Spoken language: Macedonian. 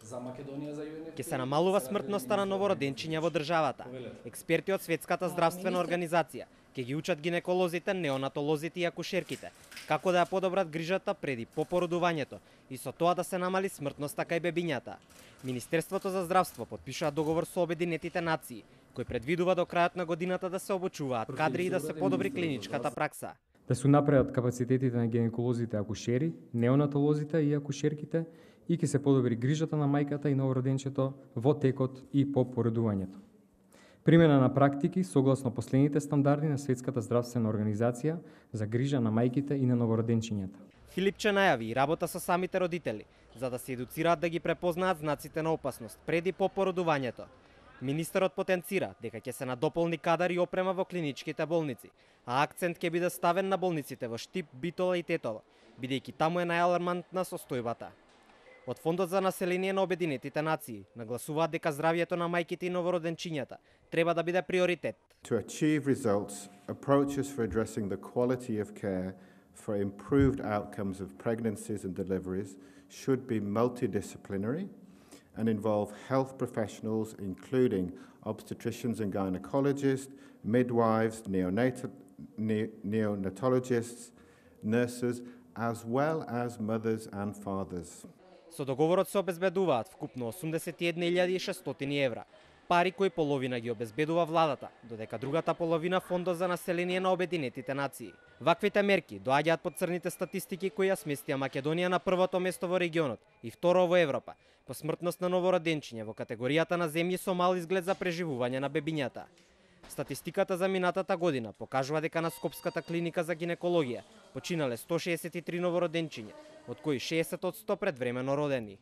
за Македонија, за UNFPA. Ке се намалува смртноста на новороденчиња во државата. Експерти од Светската здравствена организација ќе ги учат гинеколозите, неонатолозите и акушерките како да ја подобрат грижата преди попородувањето и со тоа да се намали смртноста кај бебињата. Министерството за здравство подпишаа договор со Обединетите нации, кој предвидува до крајот на годината да се обучуваат кадри и да се подобри клиничката пракса. Да се напредат капацитетите на гинеколозите, акушери, неонатолозите и акушерките и ќе се подобри грижата на мајката и новороденчето во текот и по породувањето. Примена на практики согласно последните стандарди на Светската здравствена организација за грижа на мајките и на новороденчињата. Филипче најави и работа со самите родители, за да се едуцираат да ги препознаат знаците на опасност пред и по породувањето. Министерот потенцира дека ќе се надополни кадар и опрема во клиничките болници, а акцент ќе биде ставен на болниците во Штип, Битола и Тетово, бидејќи таму е најалармантна состојбата. Од Фондот за население на Обединетите нации нагласуваат дека здравјето на мајките и новороденчињата треба да биде приоритет. To achieve results, approaches for addressing the quality of care for improved outcomes of pregnancies and deliveries should be multidisciplinary and involve health professionals including obstetricians and gynecologists, midwives, neonatologists, nurses, as well as mothers and fathers. Со договорот се обезбедуваат вкупно 81.600 евра, пари кои половина ги обезбедува владата, додека другата половина Фондот за население на Обединетите нации. Ваквите мерки доаѓаат под црните статистики кои ја сместија Македонија на првото место во регионот и второ во Европа по смртност на новороденчиња во категоријата на земји со мал изглед за преживување на бебињата. Статистиката за минатата година покажува дека на Скопската клиника за гинекологија починале 163 новороденчиња, од кои 60% предвремено родени.